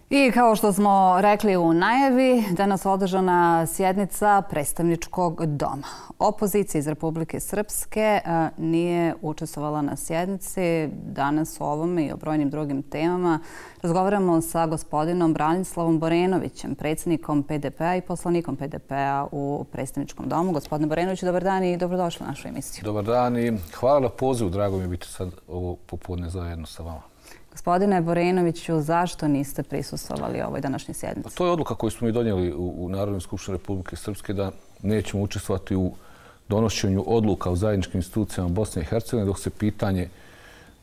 I kao što smo rekli u najavi, danas održana sjednica predstavničkog doma. Opozicija iz Republike Srpske nije učestvovala na sjednici. Danas o ovome i o brojnim drugim temama razgovaramo sa gospodinom Branislavom Borenovićem, predsjednikom PDP-a i poslanikom PDP-a u predstavničkom domu. Gospodine Borenoviću, dobar dan i dobrodošli u našu emisiju. Dobar dan i hvala na pozivu. Drago mi je biti sad ovo popodne zajedno sa vama. Gospodine Borenoviću, zašto niste prisustvovali ovoj današnjoj sjednici? To je odluka koju smo mi donijeli u Narodnoj skupštini Republike Srpske da nećemo učestvovati u donošenju odluka u zajedničkim institucijama Bosne i Hercegovine dok se pitanje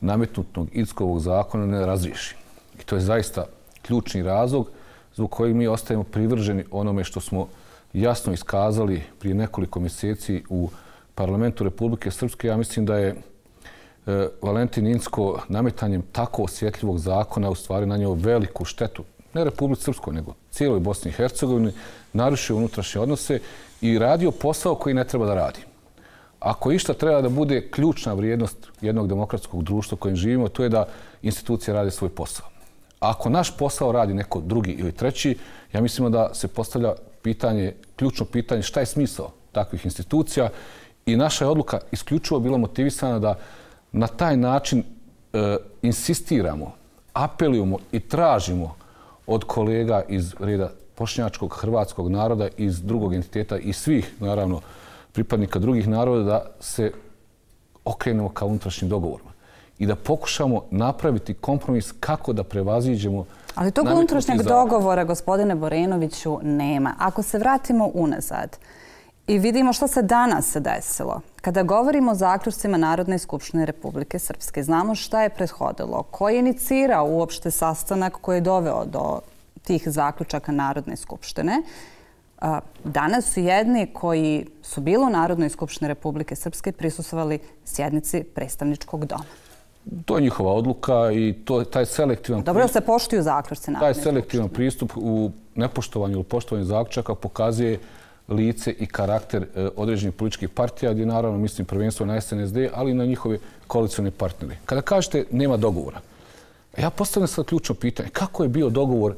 nametnutog Idskovog zakona ne razriješi. I to je zaista ključni razlog zbog kojeg mi ostajemo privrženi onome što smo jasno iskazali prije nekoliko mjeseci u Parlamentu Republike Srpske. Ja mislim da je Valentin Incko nametanjem tako osjetljivog zakona u stvari nanio veliku štetu, ne Republici Srpskoj, nego cijeloj Bosni i Hercegovini, narušio unutrašnje odnose i radio posao koji ne treba da radi. Ako išta treba da bude ključna vrijednost jednog demokratskog društva u kojem živimo, to je da institucije rade svoj posao. Ako naš posao radi neko drugi ili treći, ja mislim da se postavlja ključno pitanje šta je smisao takvih institucija i naša je odluka isključivo bila motivisana da na taj način insistiramo, apelujemo i tražimo od kolega iz reda bošnjačkog hrvatskog naroda, iz drugog entiteta i svih, naravno, pripadnika drugih naroda da se okrenemo ka unutrašnjim dogovorima i da pokušamo napraviti kompromis kako da prevaziđemo. Ali tog unutrašnjeg dogovora, gospodine Borenoviću, nema. Ako se vratimo unazad i vidimo što se danas desilo. Kada govorimo o zaključcima Narodne skupštine Republike Srpske, znamo šta je prethodilo, ko je inicirao uopšte sastanak koji je doveo do tih zaključaka Narodne skupštine. Danas su jedni koji su bili u Narodnoj skupštini Republike Srpske prisustvovali sjednici predstavničkog doma. To je njihova odluka i taj selektivan Dobro da se poštuju zaključci Narodne skupštine. Taj selektivan pristup u nepoštovanju ili poštovanju zaključaka pokazuje lice i karakter određenih političkih partija, gdje naravno mislim prvenstveno na SNSD, ali i na njihove koalicione partnere. Kada kažete nema dogovora, ja postavljam sad ključno pitanje. Kako je bio dogovor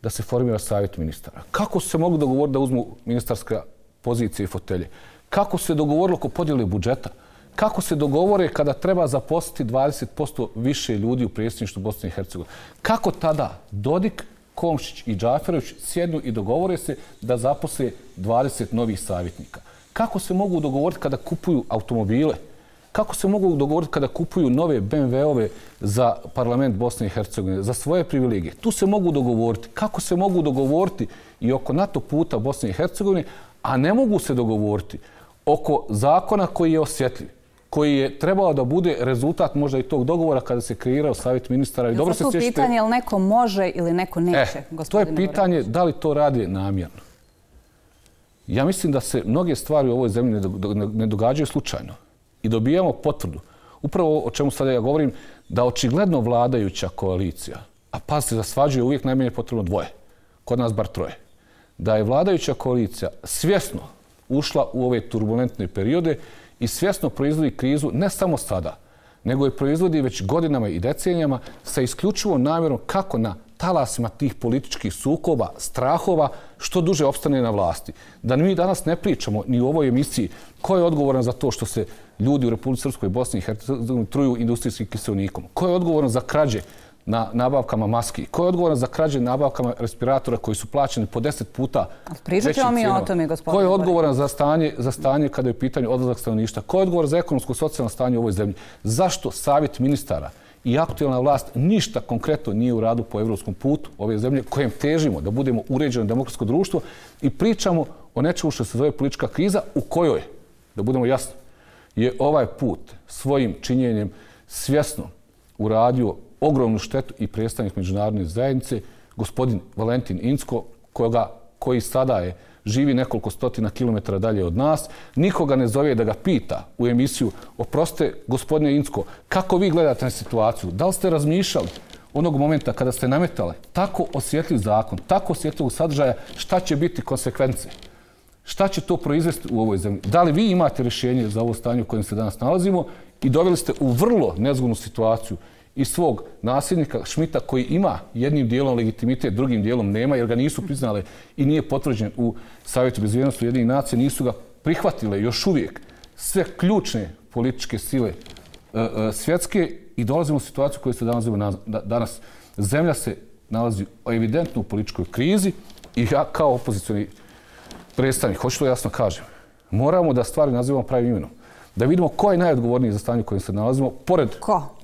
da se formira savjet ministara? Kako su se mogli dogovoriti da uzmu ministarske pozicije i fotelje? Kako se dogovorilo oko podjele budžeta? Kako se dogovore kada treba zaposliti 20% više ljudi u predsjedništvu Bosne i Hercegovine? Kako tada Dodik, Komšić i Džaferović sjednu i dogovore se da zaposle 20 novih savjetnika? Kako se mogu dogovoriti kada kupuju automobile? Kako se mogu dogovoriti kada kupuju nove BMW-ove za parlament Bosne i Hercegovine, za svoje privilegije? Tu se mogu dogovoriti. Kako se mogu dogovoriti i oko NATO puta Bosne i Hercegovine, a ne mogu se dogovoriti oko zakona koji je osjetljiv, koji je trebao da bude rezultat možda i tog dogovora kada se kreirao savjet ministara. I dobro se sjećate. Pitanje je li neko može ili neko neće, to je pitanje da li to radi namjerno. Ja mislim da se mnoge stvari u ovoj zemlji ne događaju slučajno. I dobijamo potvrdu. Upravo o čemu sada ja govorim, da očigledno vladajuća koalicija, a pazite, za svađu je uvijek najmanje potrebno dvoje, kod nas bar troje, da je vladajuća koalicija svjesno ušla u ove turbulentne periode i svjesno proizvodi krizu ne samo sada, nego je proizvodi već godinama i decenijama sa isključivom namjerom kako na talasima tih političkih sukoba, strahova, što duže opstane na vlasti. Da mi danas ne pričamo ni u ovoj emisiji ko je odgovoran za to što se ljudi u Republici Srpskoj i Bosni i Hercegovini truju industrijskim kiseonikom. Ko je odgovoran za krađe na nabavkama maski? Ko je odgovoran za krađe na nabavkama respiratora koji su plaćeni po 10 puta većim cijenama? Ko je odgovoran za stanje kada je u pitanju odlazak stanovništva? Ko je odgovoran za ekonomsko-socijalno stanje u ovoj zemlji? Zašto savjet ministara i aktualna vlast ništa konkretno nije u radu po evropskom putu ove zemlje kojem težimo da budemo uređeno demokratsko društvo i pričamo o nečemu što se zove politička kriza u kojoj, da budemo jasni, je ovaj put svojim činjenjem svjesno uradio ogromnu štetu i predstavnik međunarodne zajednice, gospodin Valentin Incko, koji sada živi nekoliko stotina kilometara dalje od nas, nikoga ne zove da ga pita u emisiju: oprostite, gospodine Incko, kako vi gledate na situaciju? Da li ste razmišljali onog momenta kada ste nametali tako osjetljiv zakon, tako osjetljivog sadržaja, šta će biti konsekvence? Šta će to proizvesti u ovoj zemlji? Da li vi imate rješenje za ovo stanje u kojem se danas nalazimo? I doveli ste u vrlo nezgodnu situaciju i svog nasljednika Šmita koji ima jednim dijelom legitimitet, drugim dijelom nema jer ga nisu priznale i nije potvrđen u Savjetu bezbjednosti Ujedinjenih nacija, nisu ga prihvatile još uvijek sve ključne političke sile svjetske i dolazimo u situaciju koju se danas. Zemlja se nalazi evidentno u političkoj krizi i ja kao opozicioni predstavnik, hoću to jasno kažem, moramo da stvari nazivamo pravim imenom. Da vidimo ko je najodgovorniji za stanje u kojem se nalazimo,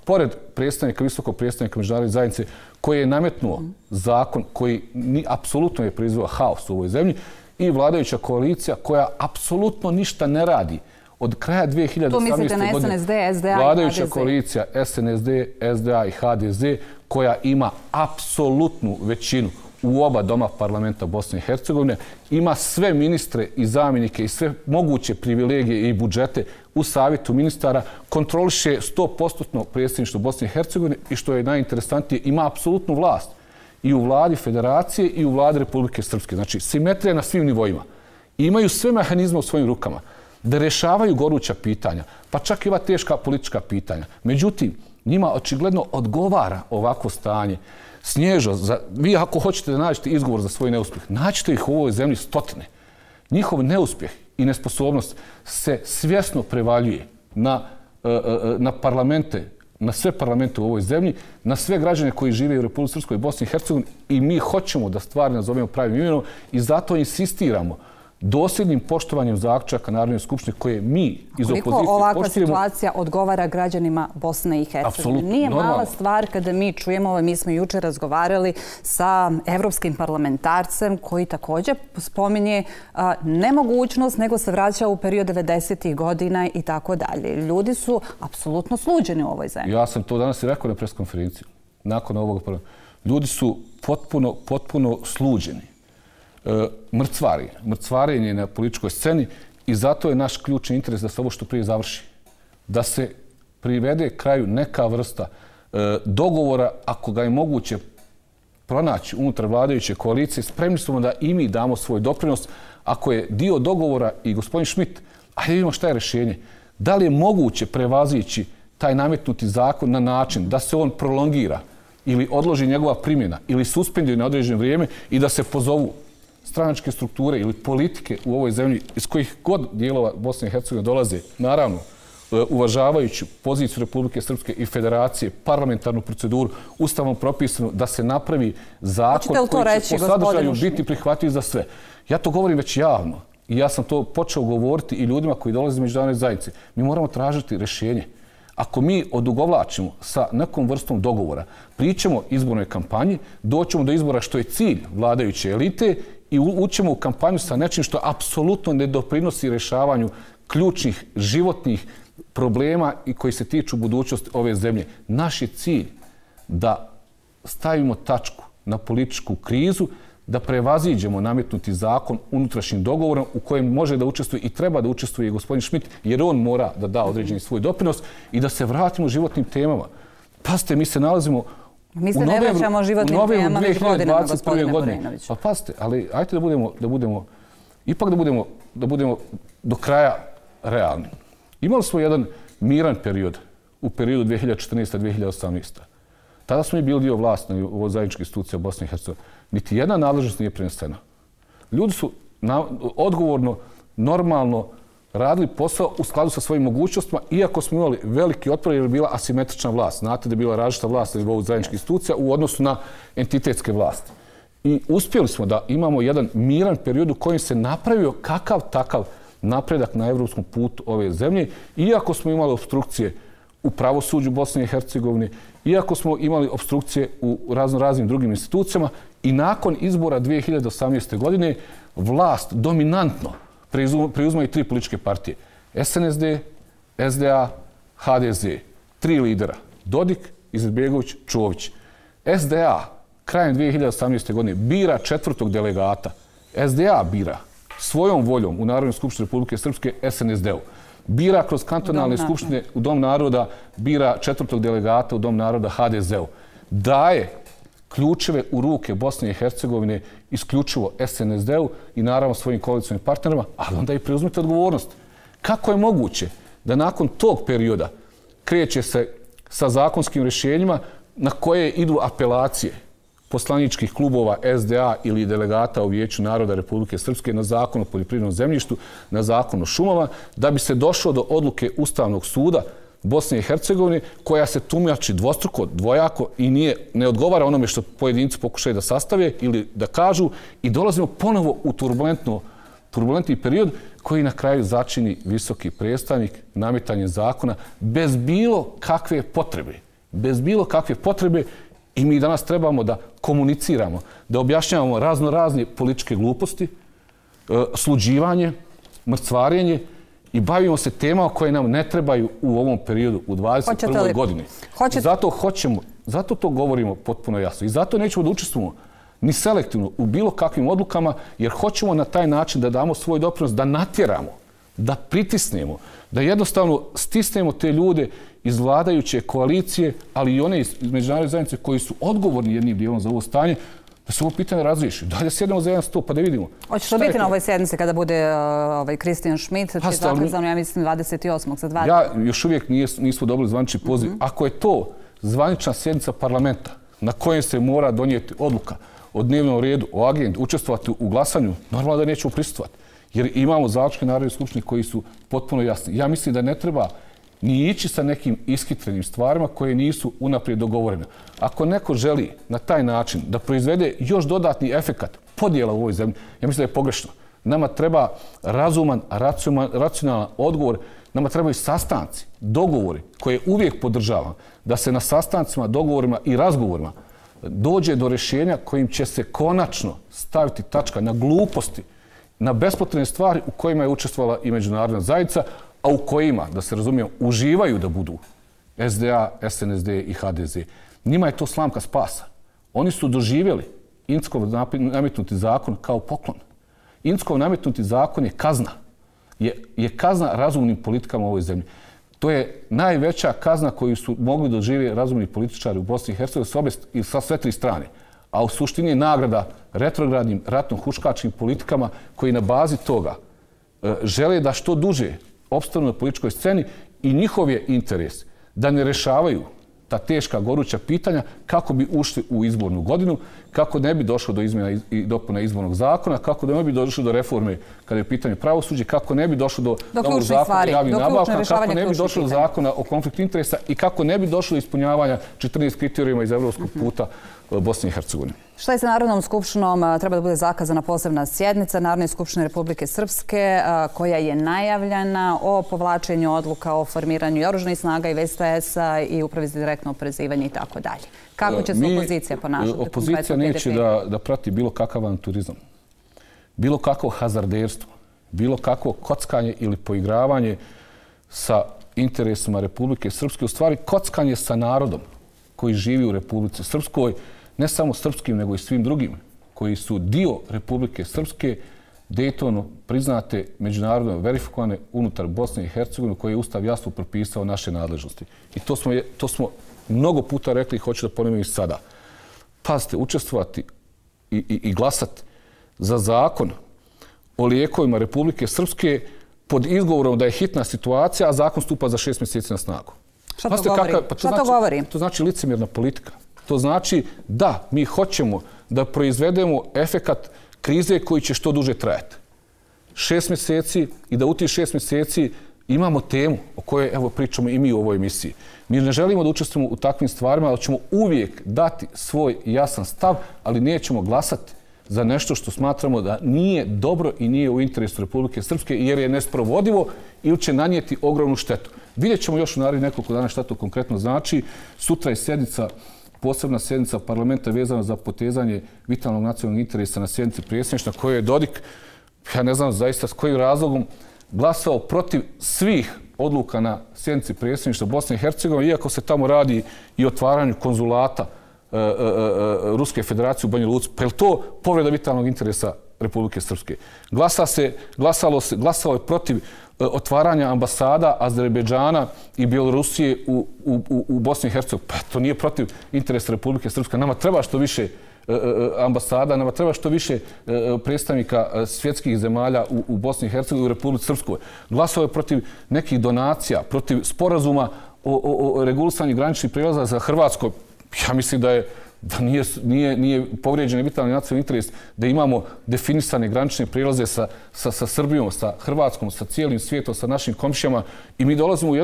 pored predstavnika, visokog predstavnika međunarodne zajednice, koji je nametnuo zakon koji apsolutno je proizveo haos u ovoj zemlji i vladajuća koalicija koja apsolutno ništa ne radi. Od kraja 2018. godine vladajuća koalicija SNSD, SDA i HDZ koja ima apsolutnu većinu u oba doma parlamenta Bosne i Hercegovine, ima sve ministre i zamjenike i sve moguće privilegije i budžete u savjetu ministara, kontroliše 100% predsjedništvo Bosne i Hercegovine i što je najinteresantnije, ima apsolutnu vlast i u vladi federacije i u vladi Republike Srpske. Znači, simetrija na svim nivoima. Imaju sve mehanizme u svojim rukama da rješavaju goruća pitanja, pa čak i ova teška politička pitanja. Međutim, njima očigledno odgovara ovako stanje. Snježo, vi ako hoćete da nađete izgovor za svoj neuspjeh, nađite ih u ovoj zemlji stotine. Njihov neuspjeh i nesposobnost se svjesno prevaljuje na parlamente, na sve parlamente u ovoj zemlji, na sve građane koji žive u Republici Srpskoj i Bosni i Hercegovini i mi hoćemo da stvari nazovemo pravim imenom i zato insistiramo dosljednim poštovanjem zaključaka Narodne skupštine koje mi iz opozicije poštujemo. Koliko ovakva situacija odgovara građanima Bosne i Hercegovine? Nije mala stvar kada mi čujemo, mi smo jučer razgovarali sa evropskim parlamentarcem koji također spominje nemogućnost, nego se vraća u period 90-ih godina i tako dalje. Ljudi su apsolutno sluđeni u ovoj zemlji. Ja sam to danas i rekao na preskonferenciji. Nakon ovog programa. Ljudi su potpuno sluđeni. Mrcvarenje na političkoj sceni i zato je naš ključni interes da se ovo što prije završi. Da se privede kraju neka vrsta dogovora, ako ga je moguće pronaći unutar vladajuće koalicije, spremni smo da i mi damo svoj doprinos. Ako je dio dogovora i gospodin Šmit, ajde vidimo šta je rješenje. Da li je moguće prevazići taj nametnuti zakon na način da se on prolongira ili odloži njegova primjena ili suspenduje na određeno vrijeme i da se pozovu stranačke strukture ili politike u ovoj zemlji iz kojih god dijelova Bosne i Hercegovine dolaze, naravno, uvažavajući poziciju Republike Srpske i Federacije, parlamentarnu proceduru, ustavom propisano da se napravi zakon koji će po sadržaju biti prihvatljiv za sve. Ja to govorim već javno i ja sam to počeo govoriti i ljudima koji dolaze iz međunarodne zajednice. Mi moramo tražiti rješenje. Ako mi odugovlačimo sa nekom vrstom dogovora, pričamo izbornoj kampanji, doćemo do izbora što je cilj vladajuće elite i ućemo u kampanju sa nečim što apsolutno ne doprinosi rješavanju ključnih životnih problema i koji se tiču budućnosti ove zemlje. Naš je cilj da stavimo tačku na političku krizu, da prevaziđemo nametnuti zakon unutrašnjim dogovorom u kojem može da učestvuje i treba da učestvuje i gospodin Šmit, jer on mora da da određeni svoj doprinos i da se vratimo životnim temama. Pazite, mi se nalazimo mi se ne vraćamo životnim temama već godinama, gospodine Borenoviću. Pa pazite, ali ajte ipak da budemo do kraja realni. Imali smo jedan miran period u periodu 2014-2018. Tada smo i bili dio vlasti u ovoj zajedničkoj instituciji Bosne i Hercegovine. Niti jedna nadležnost nije prenesena. Ljudi su odgovorno, normalno radili posao u skladu sa svojim mogućnostima, iako smo imali veliki otpor jer je bila asimetrična vlast. Znate da je bila različita vlast na nivou zajedničkih institucija u odnosu na entitetske vlasti. I uspjeli smo da imamo jedan miran period u kojem se napravio kakav takav napredak na evropskom putu ove zemlje, iako smo imali obstrukcije u pravosuđu Bosne i Hercegovine, iako smo imali obstrukcije u raznim drugim institucijama i nakon izbora 2018. godine vlast dominantno preuzmaju tri političke partije. SNSD, SDA, HDZ. Tri lidera. Dodik, Izetbegović, Čović. SDA krajem 2018. godine bira četvrtog delegata. SDA bira svojom voljom u Narodnoj skupštini Republike Srpske SNSD-u. Bira kroz kantonalne skupštine u Dom naroda, bira četvrtog delegata u Dom naroda HDZ-u. Daje ključeve u ruke Bosne i Hercegovine isključivo SNSD-u i naravno svojim koalicijnim partnerima, ali onda i preuzmite odgovornost. Kako je moguće da nakon tog perioda kreće se sa zakonskim rješenjima na koje idu apelacije poslaničkih klubova SDA ili delegata u Vijeću naroda Republike Srpske na zakon o poljoprivrednom zemljištu, na zakon o šumama, da bi se došlo do odluke Ustavnog suda Bosne i Hercegovine, koja se tumači dvostruko, dvojako i ne odgovara onome što pojedinci pokušaju da sastave ili da kažu, i dolazimo ponovo u turbulentni period koji na kraju začini visoki predstavnik nametanje zakona bez bilo kakve potrebe. Bez bilo kakve potrebe. I mi danas trebamo da komuniciramo, da objašnjavamo razne političke gluposti, sluđivanje, mrcvarenje i bavimo se temama koje nam ne trebaju u ovom periodu, u 21. godini. Zato to govorimo potpuno jasno. I zato nećemo da učestvujemo ni selektivno u bilo kakvim odlukama, jer hoćemo na taj način da damo svoj doprinos, da natjeramo, da pritisnemo, da jednostavno stisnemo te ljude iz vladajuće koalicije, ali i one iz međunarodne zajednice koji su odgovorni jednim dijelom za ovo stanje, da se ovo pitanje razriješi. Dalje sjedemo za jedan stol pa da vidimo. Hoće to biti na ovoj sjednici kada bude Kristijan Schmidt, čiji je zakazano, ja mislim, 28. za 2 dana? Ja još uvijek nismo dobili zvanični poziv. Ako je to zvanična sjednica parlamenta na kojem se mora donijeti odluka o dnevnom redu, o agendu, učestvovati u glasanju, normalno da nećemo prisustvovati. Jer imamo zaključke Narodne skupštine koji su potpuno jasni. Ja mislim da ne treba ni ići sa nekim ishitrenim stvarima koje nisu unaprijed dogovorene. Ako neko želi na taj način da proizvede još dodatni efekat podjela u ovoj zemlji, ja mislim da je pogrešno. Nama treba razuman, racionalan odgovor, nama trebaju sastanci, dogovori koje uvijek podržavam, da se na sastancima, dogovorima i razgovorima dođe do rješenja kojim će se konačno staviti tačka na gluposti, na bespotrebne stvari u kojima je učestvovala i međunarodna zajednica, a u kojima, da se razumijemo, uživaju da budu SDA, SNSD i HDZ. Njima je to slamka spasa. Oni su doživjeli Inckov nametnuti zakon kao poklon. Inckov nametnuti zakon je kazna. Je kazna razumnim politikama u ovoj zemlji. To je najveća kazna koju su mogli doživjeti razumni političari u Bosni i Hercegovini sa sve 3 strane. A u suštini je nagrada retrogradnim ratno-huškačkim politikama koji na bazi toga žele da što duže opstanu na političkoj sceni i njihov je interes da ne rešavaju ta teška goruća pitanja kako bi ušli u izbornu godinu, kako ne bi došlo do izmjena i dopuna izbornog zakona, kako ne bi došlo do reforme kada je pitanje pravosuđe, kako ne bi došlo do novog zakona o javnim nabavkama, kako ne bi došlo do zakona o konfliktu interesa i kako ne bi došlo do ispunjavanja 14 kriterijuma iz evropskog puta Bosne i Hercegovine. Šta je sa Narodnom skupštinom? Treba da bude zakazana posebna sjednica Narodne skupštine Republike Srpske koja je najavljena o povlačenju odluka o formiranju i oružanih snaga i VSTS-a i upravi za direktno oporezivanje i tako dalje. Kako će se opozicija ponašati? Opozicija neće da prati bilo kakav avanturizam, bilo kakvo hazarderstvo, bilo kakvo kockanje ili poigravanje sa interesima Republike Srpske. U stvari, kockanje sa narodom koji živi u Republici Srpskoj, ne samo srpskim, nego i svim drugim, koji su dio Republike Srpske, Daytonu priznate, međunarodno verifikovane unutar Bosne i Hercegovine, koje je Ustav jasno propisao naše nadležnosti. I to smo mnogo puta rekli i hoću da ponovim i sada. Pazite, učestvovati i glasati za zakon o lijekovima Republike Srpske pod izgovorom da je hitna situacija, a zakon stupa za 6 mjeseci na snagu. Šta to govori? To znači licemjerna politika. To znači da mi hoćemo da proizvedemo efekat krize koji će što duže trajati. 6 mjeseci i da u tih 6 mjeseci imamo temu o kojoj evo pričamo i mi u ovoj emisiji. Mi ne želimo da učestvujemo u takvim stvarima, ali ćemo uvijek dati svoj jasan stav, ali nećemo glasati za nešto što smatramo da nije dobro i nije u interesu Republike Srpske jer je nesprovodivo ili će nanijeti ogromnu štetu. Vidjet ćemo još u narednih nekoliko dana šta to konkretno znači. Sutra je posebna sjednica parlamenta vezana za potezanje vitalnog nacionalnog interesa na sjednici predsjedništva koje je Dodik, ja ne znam zaista s kojim razlogom, glasao protiv svih odluka na sjednici predsjedništva Bosne i Hercegovine, iako se tamo radi i o otvaranju konzulata Ruske federacije u Banja Luci. Pa je to povreda vitalnog interesa Republike Srpske? Glasalo je protiv otvaranja ambasada Azerbejdžana i Bjelorusije u Bosni i Hercegovini. Pa to nije protiv interesa Republike Srpske. Nama treba što više ambasada, nama treba što više predstavnika svjetskih zemalja u Bosni i Hercegovini i u Republici Srpskoj. Glasao je protiv nekih donacija, protiv sporazuma o regulisanju graničnih prijelaza za Hrvatsko, ja mislim da nije povrijeđen vitalni nacionalni interes, da imamo definisane granične prijelaze sa Srbijom, sa Hrvatskom, sa cijelim svijetom, sa našim komšijama i mi dolazimo u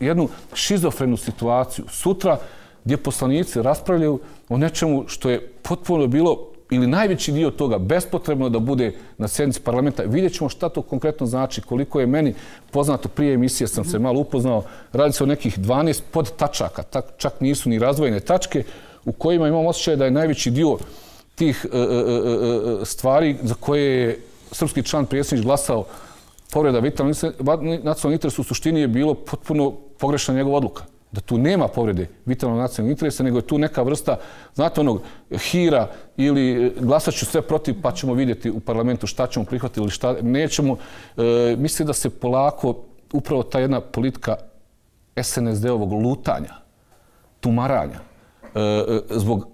jednu šizofrenu situaciju. Sutra gdje poslanici raspravljaju o nečemu što je potpuno bilo ili najveći dio toga bespotrebno da bude na sjednici parlamenta. Vidjet ćemo šta to konkretno znači, koliko je meni poznato prije emisije, sam se malo upoznao, radi se o nekih 12 podtačaka, čak nisu ni razvojene tačke, u kojima imam osjećaj da je najveći dio tih stvari za koje je srpski član predsjednič glasao povreda vitalnog nacionalnog interesa, u suštini je bilo potpuno pogrešna njegova odluka. Da tu nema povrede vitalnog nacionalnog interesa, nego je tu neka vrsta, znate, onog hira ili glasat ću sve protiv pa ćemo vidjeti u parlamentu šta ćemo prihvatiti ili šta nećemo. Mislim da se polako upravo ta jedna politika SNSD-ovog lutanja, tumaranja, zbog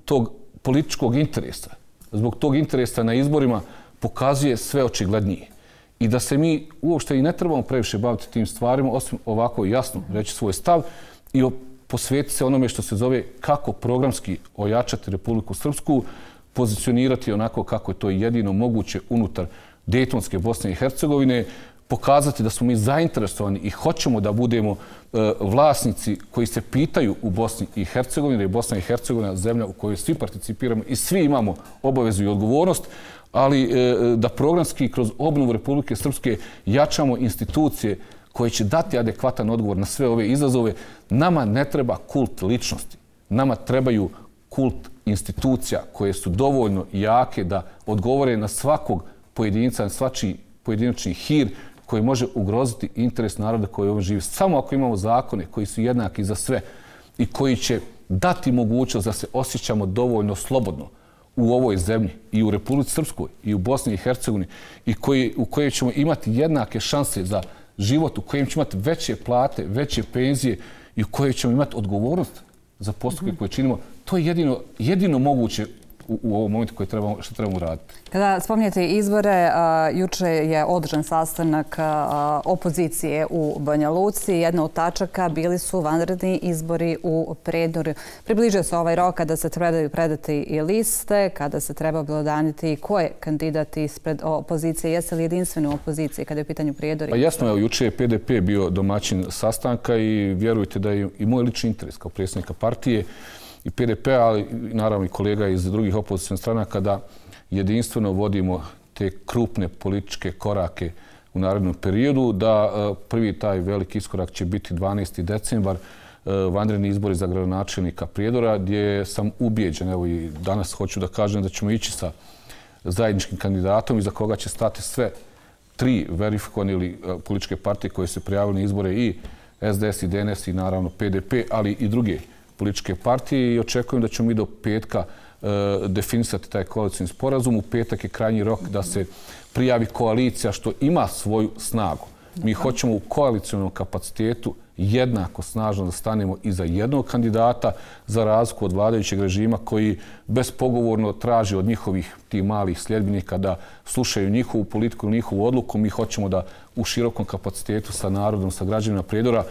tog političkog interesa, zbog tog interesa na izborima pokazuje sve očiglednije. I da se mi uopšte i ne trebamo previše baviti tim stvarima, osim ovako jasno reći svoj stav i posvetiti se onome što se zove kako programski ojačati Republiku Srpsku, pozicionirati onako kako je to jedino moguće unutar Dejtonske Bosne i Hercegovine, pokazati da smo mi zainteresovani i hoćemo da budemo vlasnici koji se pitaju u Bosni i Hercegovini, jer je Bosna i Hercegovina zemlja u kojoj svi participiramo i svi imamo obavezu i odgovornost, ali da programski kroz obnovu Republike Srpske jačamo institucije koje će dati adekvatan odgovor na sve ove izazove. Nama ne treba kult ličnosti. Nama trebaju kult institucija koje su dovoljno jake da odgovore na svakog pojedinca, na svačiji pojedinačni hir koji može ugroziti interes naroda koji ovdje živi. Samo ako imamo zakone koji su jednaki za sve i koji će dati mogućnost da se osjećamo dovoljno slobodno u ovoj zemlji i u Republici Srpskoj i u Bosni i Hercegovini i u kojoj ćemo imati jednake šanse za život, u kojem ćemo imati veće plate, veće penzije i u kojoj ćemo imati odgovornost za postupke koje činimo, to je jedino moguće u ovom momentu što trebamo raditi. Kada spominjete izbore, juče je održan sastanak opozicije u Banja Luci. Jedna od tačaka bili su vanredni izbori u Prijedorju. Približio se ovaj rok kada se trebaju predati i liste, kada se treba obelodaniti ko je kandidat ispred opozicije. Jeste li jedinstveni u opoziciji kada je u pitanju Prijedorja? Pa jasno, evo, juče je PDP bio domaćin sastanka i vjerujte da je i moj lični interes kao predsjednika partije i PDP, ali naravno i kolega iz drugih opozicionih stranaka, da jedinstveno vodimo te krupne političke korake u narednom periodu, da prvi taj veliki iskorak će biti 12. decembar, vanredni izbori za gradonačelnika Prijedora, gdje sam ubijeđen, evo i danas hoću da kažem da ćemo ići sa zajedničkim kandidatom iza koga će stati sve tri verifikovane ili političke partije koje se prijavili na izbore, i SDS i DNS i naravno PDP, ali i druge političke partije, i očekujem da ćemo mi do petka definisati taj koalicioni sporazum. U petak je krajnji rok da se prijavi koalicija, što ima svoju snagu. Mi hoćemo u koalicijonom kapacitetu jednako snažno da stanemo iza jednog kandidata, za razliku od vladajućeg režima koji bespogovorno traži od njihovih tih malih sljedbenika da slušaju njihovu politiku, njihovu odluku. Mi hoćemo da u širokom kapacitetu sa narodom, sa građanima Prijedora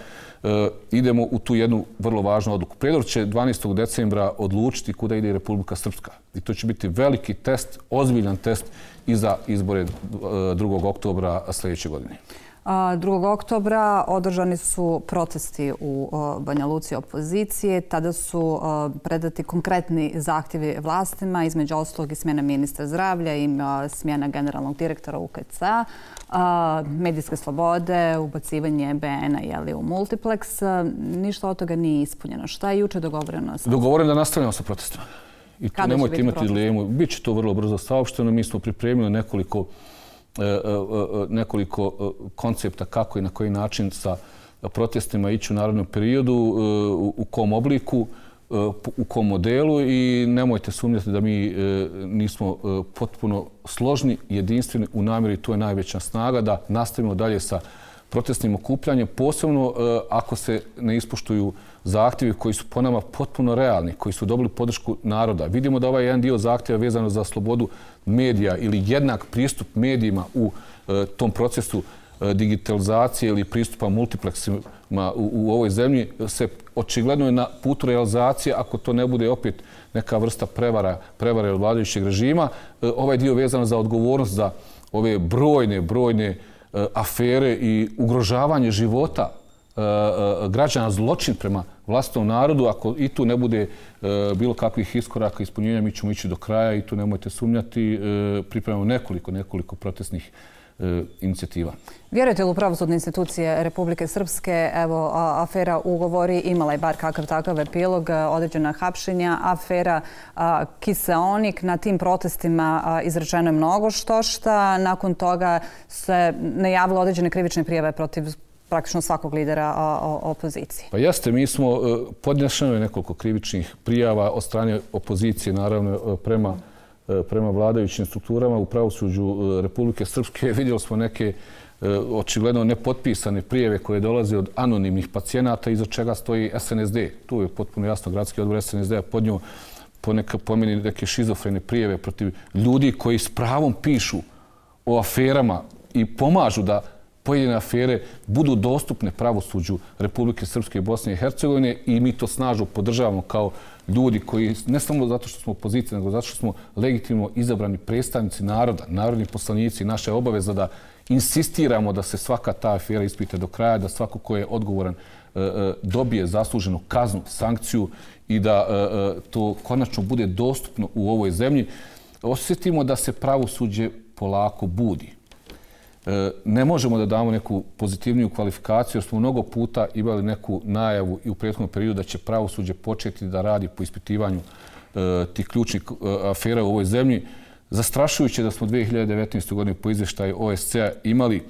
idemo u tu jednu vrlo važnu odluku. Prijedor će 12. decembra odlučiti kuda ide Republika Srpska. I to će biti veliki test, ozbiljan test i za izbore 2. oktobra sljedeće godine. 2. oktobra održani su protesti u Banja Luci opozicije. Tada su predati konkretni zahtjevi vlastima, između ostalog i smjena ministra zdravlja i smjena generalnog direktora UKC-a, medijske slobode, ubacivanje BN-a u multiplex. Ništa od toga nije ispunjeno. Šta je juče dogovoreno? Dogovoreno da nastavljamo sa protestima. I tu nemojte imati dilemu. Biće to vrlo brzo saopšteno. Mi smo pripremili nekoliko koncepta kako i na koji način sa protestima ići u narednom periodu, u kom obliku, u kom modelu, i nemojte sumnjati da mi nismo potpuno složni, jedinstveni u namjeri. To je najveća snaga da nastavimo dalje sa protestnim okupljanjem, posebno ako se ne ispoštuju zahtjevi koji su po nama potpuno realni, koji su dobili podršku naroda. Vidimo da ovaj jedan dio zahtjeva vezano za slobodu medija ili jednak pristup medijima u tom procesu digitalizacije ili pristupa multipleksima u ovoj zemlji se očigledno je na putu realizacije, ako to ne bude opet neka vrsta prevare od vladajućeg režima. Ovaj dio vezan za odgovornost za ove brojne afere i ugrožavanje života građana, zločin prema vlastitom narodu, ako i tu ne bude bilo kakvih iskoraka ispunjenja, mi ćemo ići do kraja i tu nemojte sumnjati. Pripremamo nekoliko protestnih inicijativa. Vjerujete li u pravosudne institucije Republike Srpske? Evo, afera Ugovori imala je bar kakav takav epilog, određena hapšenja. Afera Kiseonik, na tim protestima izrečeno je mnogo štošta. Nakon toga se najavilo određene krivične prijave protiv praktično svakog lidera opozicije. Pa jeste, mi smo podnešeno nekoliko krivičnih prijava od strane opozicije, naravno prema vladajućim strukturama u pravosuđu Republike Srpske. Vidjeli smo neke očigledno nepotpisane prijave koje dolaze od anonimnih pacijenata iza čega stoji SNSD. Tu je potpuno jasno gradski odbor SNSD-a podnio po meni neke šizofrene prijave protiv ljudi koji s pravom pišu o aferama i pomažu da pojedine afere budu dostupne pravosuđu Republike Srpske i Bosne i Hercegovine i mi to snažno podržavamo kao ljudi koji, ne samo zato što smo opozicija, nego zato što smo legitimno izabrani predstavnici naroda, narodni poslanici. Naša je obaveza da insistiramo da se svaka ta afera ispita do kraja, da svako ko je odgovoran dobije zasluženu kaznu, sankciju i da to konačno bude dostupno u ovoj zemlji. Osjetimo da se pravosuđe polako budi. Ne možemo da damo neku pozitivniju kvalifikaciju jer smo mnogo puta imali neku najavu i u prethodnom periodu da će pravosuđe početi da radi po ispitivanju tih ključnih afera u ovoj zemlji. Zastrašujuće da smo 2019. godine po izvještaju OSCE-a imali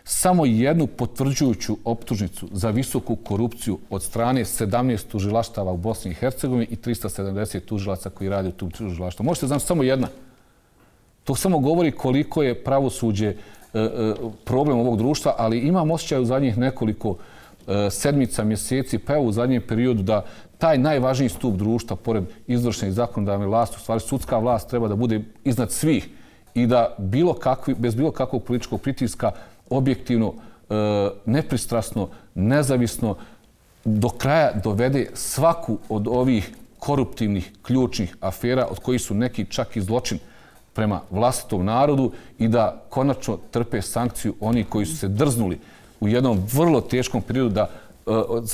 samo jednu potvrđujuću optužnicu za visoku korupciju od strane 17 tužilaštava u Bosni i Hercegovini i 370 tužilaca koji rade u tom tužilaštvu. Možete znati samo jedna. To samo govori koliko je pravosuđe problem ovog društva, ali imam osjećaj u zadnjih nekoliko sedmica, mjeseci, pa evo u zadnjem periodu da taj najvažniji stup društva, pored izvršne i zakonodavne vlasti, u stvari sudska vlast treba da bude iznad svih i da bez bilo kakvog političkog pritiska objektivno, nepristrasno, nezavisno do kraja dovede svaku od ovih koruptivnih ključnih afera, od kojih su neki čak i zločin prema vlastitom narodu i da konačno trpe sankciju oni koji su se drznuli u jednom vrlo teškom periodu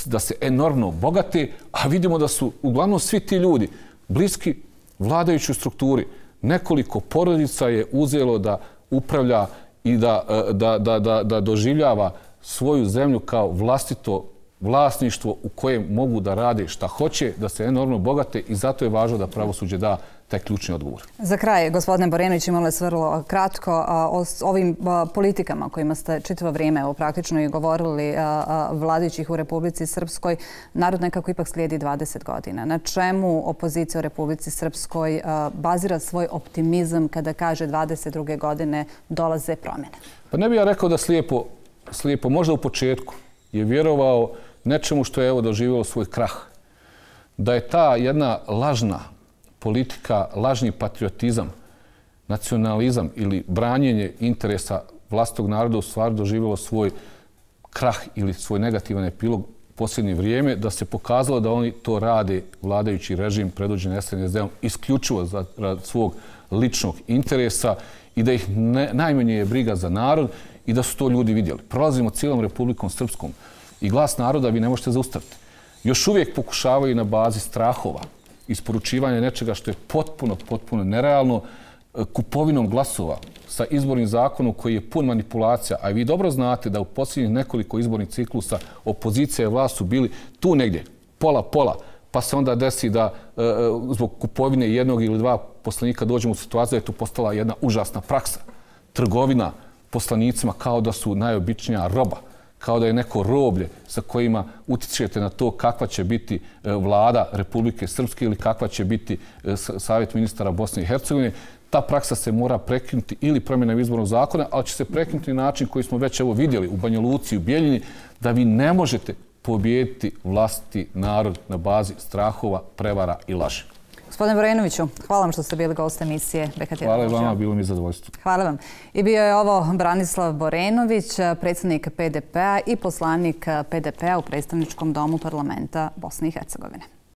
da se enormno bogate, a vidimo da su uglavnom svi ti ljudi bliski vladajućoj strukturi. Nekoliko porodica je uzelo da upravlja i da doživljava svoju zemlju kao vlastito vlasništvo u kojem mogu da rade šta hoće, da se enormno bogate i zato je važno da pravosuđe da taj ključni odgovor. Za kraj, gospodine Borenović, imali ste vrlo kratko o ovim politikama kojima ste čitavo vrijeme praktično i govorili vladajućih u Republici Srpskoj. Narod nekako ipak slijedi 20 godina. Na čemu opozicija u Republici Srpskoj bazira svoj optimizam kada kaže 22. godine dolaze promjene? Pa ne bih ja rekao da slijepo, možda u početku je vjerovao nečemu što je evo doživjelo svoj krah. Da je ta jedna lažna politika, lažni patriotizam, nacionalizam ili branjenje interesa vlastitog naroda u stvari doživjelo svoj krah ili svoj negativan epilog u posljednje vrijeme, da se pokazalo da oni to rade, vladajući režim predvođen SNSD-om, isključivo za svog ličnog interesa i da ih najmanje je briga za narod i da su to ljudi vidjeli. Prolazimo cijelom Republikom Srpskom i glas naroda vi ne možete zaustaviti. Još uvijek pokušavaju na bazi strahova, isporučivanje nečega što je potpuno nerealno, kupovinom glasova sa izbornim zakonom koji je pun manipulacija, a vi dobro znate da u posljednjih nekoliko izbornih ciklusa opozicija i vlast su bili tu negdje, pola, pa se onda desi da zbog kupovine jednog ili dva poslanika dođemo u situaciju da je to postala jedna užasna praksa. Trgovina poslanicima kao da su najobičnija roba, kao da je neko roblje sa kojima utičete na to kakva će biti vlada Republike Srpske ili kakva će biti savjet ministara Bosne i Hercegovine. Ta praksa se mora prekinuti ili promjenom izbornog zakona, ali će se prekinuti na način koji smo već evo vidjeli u Banja Luci, u Bijeljini, da vi ne možete pobijediti vlastiti narod na bazi strahova, prevara i laži. Gospodine Borenoviću, hvala vam što ste bili gost emisije BK1. Hvala vama, bilo mi je zadovoljstvo. Hvala vam. I bio je ovo Branislav Borenović, predsjednik PDP-a i poslanik PDP-a u predstavničkom domu parlamenta Bosne i Hercegovine.